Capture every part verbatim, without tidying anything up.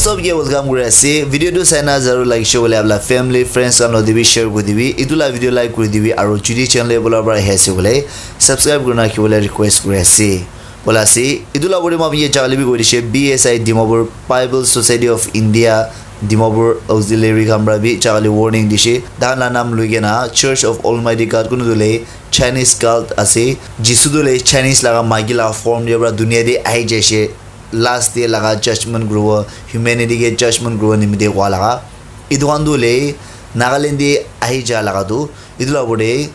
Sob ke welcome kuri ase. Video tu saina jaru like share kuri apna family friends khan loti bi share kuri dibi. Itu la video like kuri dibi aru jodi channel te bola para ahi ase bole subscribe kurina rakhibole request kuri ase. Bola ase itu la bole ma ye jagale bi kuri dishe B S I Dimapur Bible Society of India Dimapur Auxiliary khan para bi jagale warning dishe. Dan la nam lui kena Church of Almighty God kunu dule Chinese cult ase. Jisu dule Chinese laga maiki laga form de para dunia de ahi jaise. Last day laga judgment kuribo, humanity ke judgment kuribo nimite koa laga. Itu khan tu hoile Nagaland te ahi ja laga tu. Itu la opor te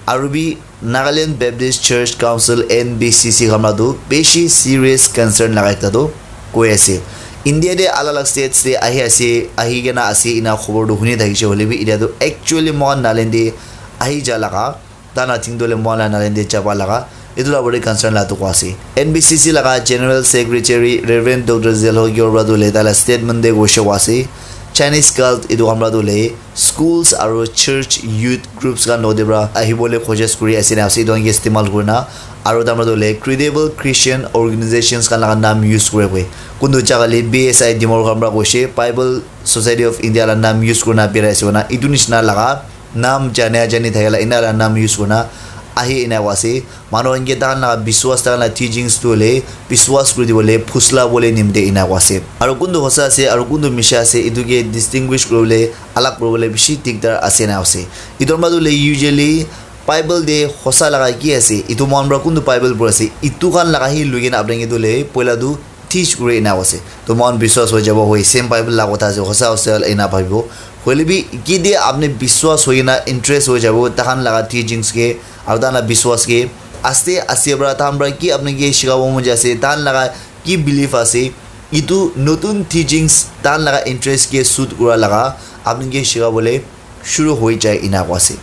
aru bi Nagaland Baptist Church Council, N B C C, khan la tu bishi serious concern laga ekta tu koi ase. India te alag alag states te ahi ase, ahi kena ase, ina khobor tu huni thakishe hoile bi, ita tu actually mohan Nagaland te ahi ja laga. Tana ting dole mohan la Nagaland te jaba laga itu la bari concern la tu ase. N B C C laga General Secretary Reverend Doctor Zelho Gyorba tu le tala statement de goshe ase. Chinese cult itu hamra tu le schools aru church youth groups khan lode bra ahibole khojis kuri ase na ase itu istemal kurina aru tamra tu le credible Christian organizations khan laga nam use kure koi. Kuntu jaga le B S I Dimor khan bra goshe Bible Society of India la nam use kurina birai ase na itu nishina laga nam jane ajani thakela ina la nam use kurina ahi ina wase. Manu khan ke tahan la biswas tahan la teachings tu hoile biswas kuri dibole phusla bole nimite ina wase. Aru kuntu hosa ase aru kuntu misha ase itu ke distinguish kuribole alag kuribole bishi dikdar ase na ase. Itu manu le usually Bible de hosa laga ki ase itu mohan para kuntu Bible pura ase itu khan laga hi lui kena apni ke tu le poila tu teach kuri ena ase. To mohan biswas hoi jabo hoi same Bible la kotha ase hosa ase ena bhabibo. Hoile bi kide apni biswas hoi na interest hoi jabo tahan laga teachings ke aru tahan la biswas ke aste aste para tahan para ki apni ke shikabo mon jai ase tahan laga ki belief ase itu notun teachings tahan laga interest ke suit kura laga apni ke shikabole shuru hoi jai ena koa ase.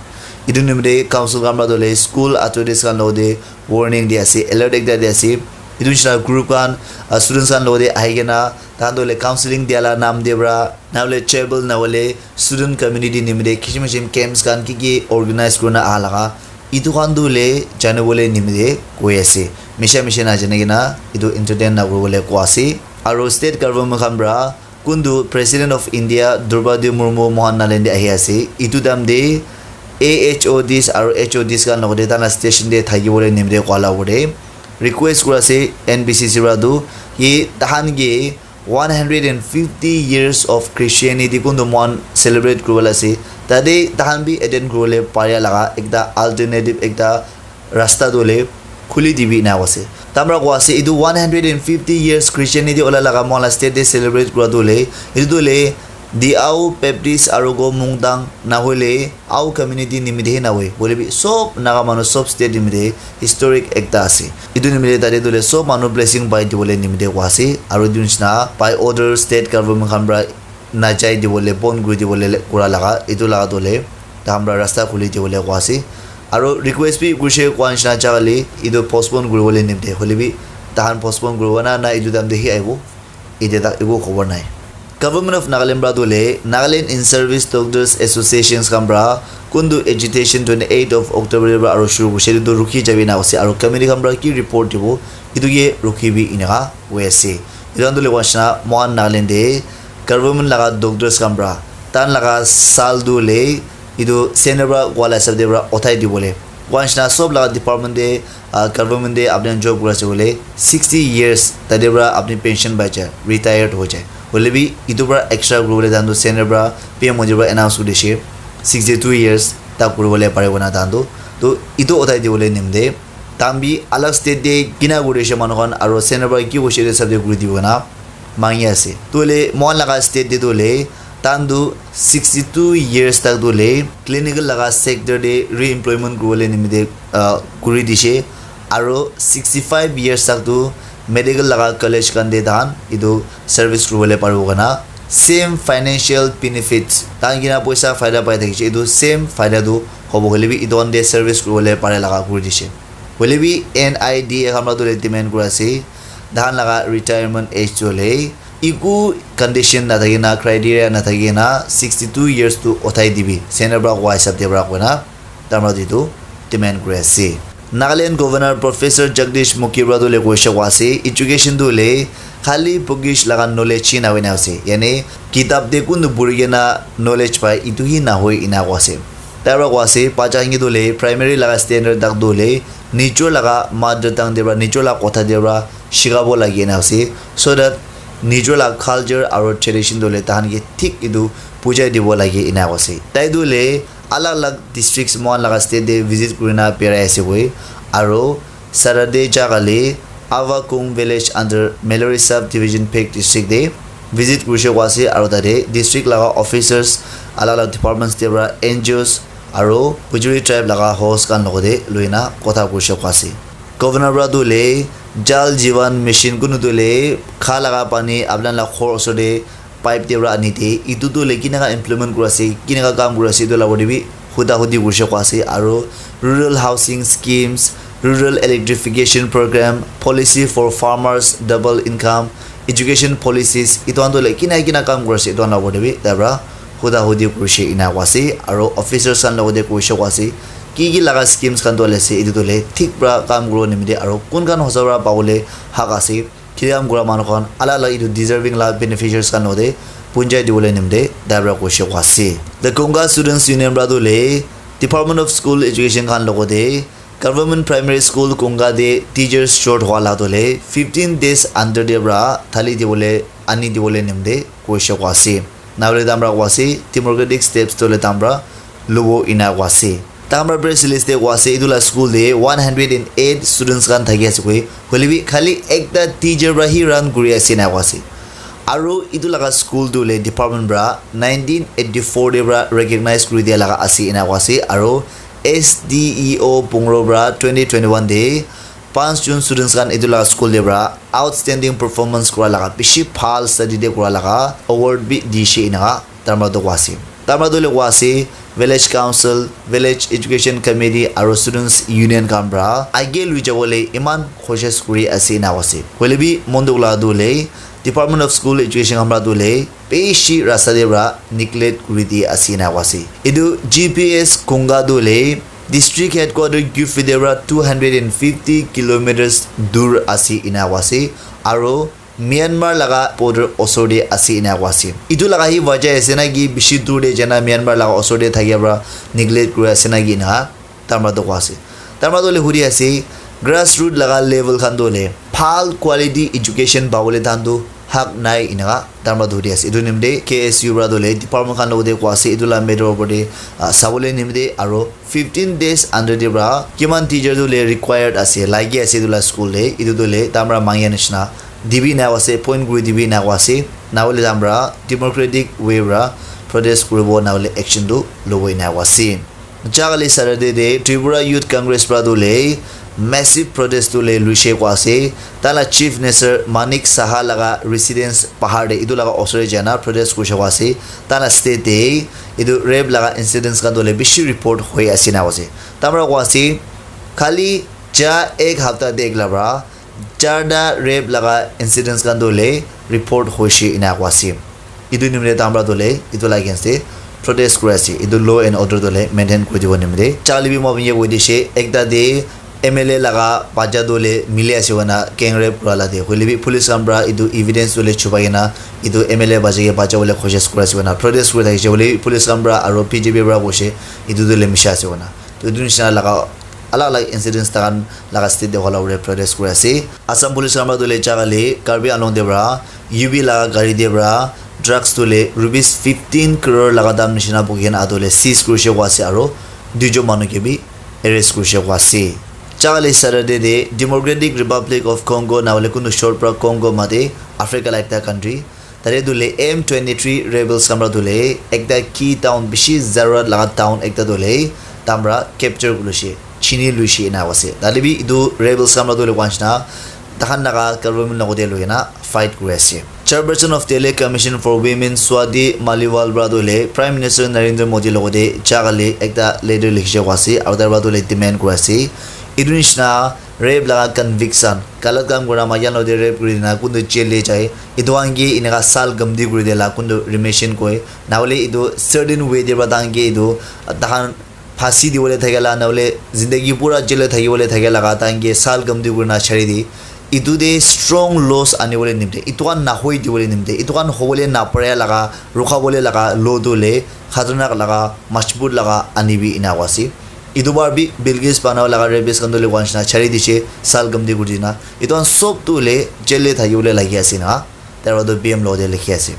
Itu nimite council khan para tu hoile school authorities khan logate warning di ase, alert ekta di ase. Itu nishina group khan, ah, students khan logate ahi kena tahan tu hoile counseling dia la nam de para na hoile chapel na hoile student community nimite kisim kisim camps khan ki ki organize kurina aha laga itu khan tu hoile janibole nimite koi ase. Misha misha na jane kena itu entertain na kuribole koa ase. Aru state government khan para kuntu President of India Droupadi Murmu mohan Nagaland te ahi ase. Itu time te A H O Ds aru H O Ds khan logate tahan la station te thaki bole nimite koa la opor te request kura ase N B C C para tu ki tahan ke one hundred and fifty years of Christianity kuntu mohan celebrate kuribole ase. Tate tahan bi attend kuribole paria laga ekta alternative ekta rasta tu hoile khuli dibi ena koa ase. Tamra koa ase itu one hundred and fifty years Christianity ola laga mohan la state te celebrate kura tu hoile itu tu hoile Diau Baptist aru go Mungdang na hoile Ao community nimite he na hoi. Hoile bi sob Naga manu sob state nimite historic ekta ase. Itu nimite tate tu hoile sob manu blessing pai dibole nimite koa ase. Aru itu nishina by order state government khan para najai dibole bon kuri dibole kura laga itu laga tu hoile tahan para rasta khuli dibole koa ase. Aru request bi kurishe koa nishina jaga le itu postpone kuribole nimite hoile bi tahan postpone kuribo na na itu time te hi ahibo itu tak eku khobor nai. Government of Nagaland para tu hoile Nagaland in Service Doctors Associations khan para kuntu agitation twenty eight of October para aru shuru kurishe itu rukhi jabi na ase aru committee khan para ki report dibo itu ke rukhi bi eneka hoi ase. Itu khan tu hoile koa nishina mohan Nagaland te government laga doctors khan para tahan laga sal tu hoile itu center para koa la hisab te para uthai dibole koa nishina sob laga department te, ah, government te apni khan job kuri ase koile sixty years tate para apni pension pai jai, retired hoi jai. Hoile bi itu para extra kuribole tahan tu center para P M Modi para announce kuri dishe sixty two years tak kuribole paribo na tahan tu. To itu uthai dibole nimite tahan bi alag state te kina kuri dishe manu khan aru center para ki hoishe itu hisab te kuri dibo na mangi ase. Tu hoile mohan laga state te tu hoile tahan tu sixty two years tak tu hoile clinical laga sector te re-employment kuribole nimite, ah, kuri dishe. Aru sixty five years tak tu medical laga college khan te tahan itu service kuribole paribo kana same financial benefits tahan kina poisa faida pai thakishe itu same faida tu hobo hoile bi itu khan te service kuribole pare laga kuri dishe. Hoile bi N I D A khan para tu hoile demand kuri ase. Tahan laga retirement age tu hoile eku condition nathaki na criteria nathaki na sixty two years tu uthai dibi center para koa hisab te para koina tamra ditu demand kuri ase. Nagaland Governor Professor Jagdish Mukhi para tu le koise koa ase, education tu le khali bookish laga knowledge hi na hoina ase. Yani kitab te kun tu puri kena knowledge pai, itu hi na hoi ina koa ase. Tai para koa ase, bacha khan ke tu le primary laga standard tak tu le nijor laga mother tongue te para, nijor laga kotha te para shikabo lagi ina ase, so that nijor laga culture aru tradition tu le tahan ke thik itu bujai dibo lagi ina koa ase. Tai tu le alag alag districts mohan laga state te visit kurina berai ase koi, aru Saturday jaga le Avakung village under Mallory sub division Phek district te visit kurise koa ase, aru tate district laga officers, alag alag departments te para N G Os aru Bujuri tribe laga host khan logote loina kotha kurise koa ase. Governor para tu le Jal Jeevan Mission kunu tu le kha laga pani apna laga ghor osor te pipe te para ani te, itu tu le kinaka implement kuri ase, kinaka kam kuri ase, itu la opor te bi huda hudi kurise koa ase, aru rural housing schemes, rural electrification program, policy for farmers, double income, education policies, itu khan tu le kina kina kam kuri ase, itu khan la opor te bi tai para huda hudi kurise ina koa ase, aru officers khan logote kurise koa ase, ki ki laga schemes khan tu le ase, itu tu le thik para kam kuribo nimite, aru kun khan hosa para pabole hak ase, Khiriam kura manu khan alag alag itu deserving la beneficiaries khan logote punjai dibole nimite tai para koise koa ase. The Konga Students Union para tu le Department of School Education khan logote Government Primary School Konga te teachers short hwa la tu le fifteen days under te para thali dibole ani dibole nimite koise koa ase. Nahole tamra koa ase, democratic steps tole tamra lobo ena koa ase. Tamra press release te koa ase, etu la school te one hundred and eight students khan thaki ase koi. Hoile bi khali ekta teacher para hi run kuri ase ena koa ase. Aru etu laga school tu hoile department para nineteen eighty-four te para recognize kuri dia laga ase ena koa ase. Aru S D E O Pungro para twenty twenty-one te Panch jun students khan etu laga school te para outstanding performance kura laga, bishi bhal study te kura laga award bi dishe enaka tamra tu koa ase. Tamra tu hoile koa ase, village council, village education committee aru students union khan para age lui jabo le iman koshish kuri ase ena koa ase. Hoile bi mon dukh laga tu hoile Department of School Education khan para tu hoile bishi rasta te para neglect kuri di ase ena koa ase. Etu G P S Konga tu hoile district headquarter Kiphire te para two hundred and fifty kilometers dur ase ena koa ase, aru Myanmar laga border osor te ase ena koa ase. Etu laga hi wajah ase na ki bishi dur te jana Myanmar laga osor te thakia para neglect kuri ase na ki ena tamra tu koa ase. Tamra tu hoile huri ase, grassroot laga level khan tu hoile bhal quality education pabole tahan tu hak nai enaka tamra tu huri ase. Etu nimite K S U para tu hoile department khan logote koa ase, etu la matter opor te, ah, sabole nimite aru fifteen days under te para kiman teacher tu hoile required ase, lagi ase etu la school te, etu tu hoile tamra mangia nishina dibi ena koa ase, point kuri dibi ena koa ase. Nahole tamra democratic way para protest kuribo, nahole action tu lobo ena koa ase. Jagale Saturday te Tripura Youth Congress para tu hoile massive protest tu hoile luishe koa ase. Tai la Chief Minister Manik Saha laga residence pahar te etu laga osor te jaina protest kurishe koa ase. Tai la state te etu rape laga incidents khan tu hoile bishi report hoi ase ena koa ase. Tamra koa ase khali ja ek hapta te ek la para charta rape laga incidents khan tu hoile report hoishe ena koa ase. Etu nimite tamra tu hoile etu la against te protest kuri ase. Etu law and order tu hoile maintain kuri dibo nimite. Charli bi moi apni ke koi dishe, ekta te M L A laga bacha tu hoile mili ase koina gang rape kura la te. Hoile bi police khan para etu evidence tu hoile chupai kena etu M L A bacha ke bachabo le koshish kuri ase koina protest kuri thakishe. Hoile bi police khan para aru B J P para koishe etu tu hoile misha ase koina. To etu nishina laga alag alag incidents tahan laga state te hola pore protest kuri ase. Assam Police khan para tu hoile jagale Karbi Anglong te para U P laga gari te para drugs tu hoile rupees fifteen crore laga dam nishina bukhi kena atu hoile seize kurishe koa ase aru duijon manu ke bi arrest kurishe koa ase. Jagale Saturday te Democratic Republic of Congo nahole kunu short para Congo mate Africa la ekta country. Tate tu hoile M twenty-three rebels khan para tu hoile ekta key town bishi zarurat laga town ekta tu hoile tamra capture kuri loishe, chini loishe ena ase. Tate bi etu rebels khan para tu hoile koa nishina tahan laga government logote loi kena fight kuri ase. Chairperson of Tele Commission for Women Swati Maliwal para tu hoile Prime Minister Narendra Modi logote jagale ekta letter likhishe koa ase aru tai para tu hoile demand kuri ase. Etu nishina rape laga conviction, galat kam kura maiki khan logote rape kuri dina kuntu jail te jai, etu khan ke eneka sal gamdi kuri dia la kuntu remission koi, nahole etu certain way te para tahan ke etu tahan phasi dibole thake la, nahole zindagi pura jail te thakibole thake laga, tahan ke sal gamdi kurina chari di. Itu te strong laws anibole nimite, itu khan nahoi dibole nimite, itu khan hobole napare laga, rukhabole laga law tu le khatarnak laga, majbut laga anibi ena koa ase. Itu bar bi Bilkis Bano laga rapist khan tu le koa nishina chari dishe, sal gamdi kuri dina. Itu khan sob tu le jail te thakibole lagi ase na. Tara tu B M logo te likhi ase.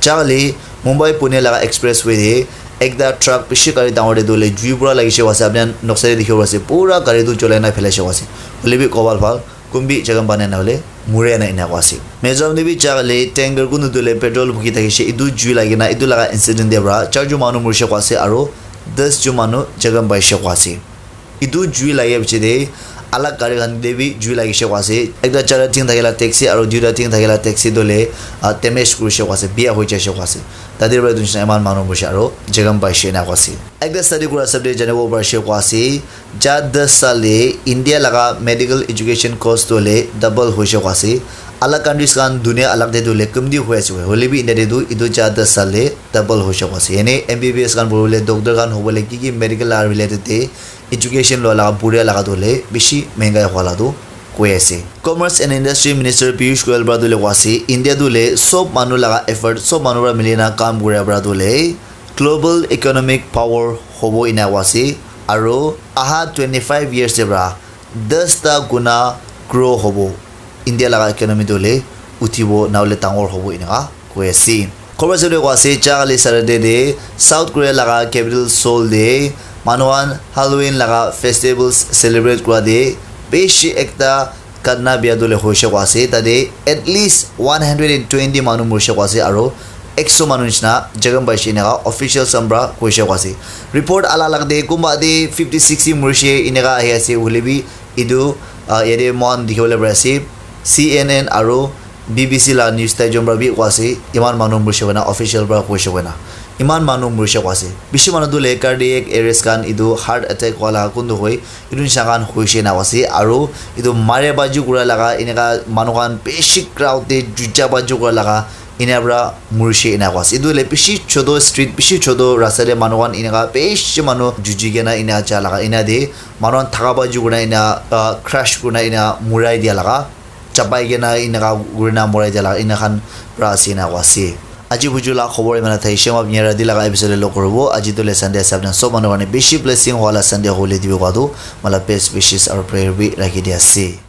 Chakali Mumbai Pune laga expressway te ekta truck bishi gari dangor te tu le jui pura lagi she ase. Apni khan noksa te dikhi ase pura gari tu cholai na phelai she ase. Hoile bi kobal bhal kumbi jaga bane na hole mure na ena koa ase. Mizoram te bi chakali tanker kunu tu le petrol bhuki thaki she itu jui lagi na itu laga incident te pra char jon manu muri she koa ase aro das jon manu jaga pai she koa ase. Itu jui lage piche te alag gari khan te bi jui lagi she koa ase. Ekta charta tin thakila taxi aro duita tin thakila taxi tu le, ah, damage kuri she koa ase, biya hoi jai she koa ase. Tate para etu nishina eman manu boshi aro jaga pai she ena koa ase. Ekta study kura hisab te janibo pari she koa ase, ja das saal te India laga medical education cost tu le double hoi she koa ase. Alag countries khan dunia alag te tu le kumti hoi ase, hoi le bi India te tu etu ja das saal te double hoi she koa ase. Yani M B B S khan puri bole, doctor khan hobole, ki ki medical laga related te education lua laga buria laga tu hoile bishi mengai hua la tu koi ase. Commerce and Industry Minister Piyush Goyal para tu hoile koa ase, India tu hoile sob manu laga effort, sob manu para mili na kam kuria para tu hoile global economic power hobo ena koa ase, aro aha twenty five years te para das ta guna grow hobo. India laga economy tu hoile uthibo na hoile dangor hobo eneka koi ase. Khobor sab te koa ase, ja kali Saturday te South Korea laga capital Seoul te manu khan Halloween laga festivals celebrate kura te bishi ekta ghatna biya tu hoile hoi she koa ase. Tate at least one hundred and twenty manu muri she koa ase aro ekso manu nishina jakham pai she eneka officials khan para koi she koa ase. Report alag alag te kunba te fifty sixty muri she eneka ahi ase, hoile bi etu, ah, yate moikhan dikhi bole pari ase, C N N aro B B C la news tai jon para bi koa ase, eman manu muri she koina, official para koi she koina, eman manu muri she koa ase. Bishi manu tu hoile cardiac arrest khan, etu heart attack wala kun tu hoi, etu nisha khan hoi she na koa ase. Aro etu mare baji kura laga, eneka manu khan bishi crowd te juja baji kura laga, ena para muri she ena koa ase. Etu hoile bishi choto street, bishi choto rasta te manu khan eneka bishi manu juji kena ena ja laga, ena te manu khan thaka baji kurina ena, ah, crush kurina ena murai dia laga, chapai kena eneka kurina murai dia laga, ena khan para ase ena koa ase. Aji buju la khobor eman thai she, moi apni rati laga episode te log koribo. Aji tu hoile Sunday ase, apni khan sob manu karne bishi blessing wala Sunday hole dibi koa tu, moi la best wishes aro prayer bi rakhi di ase.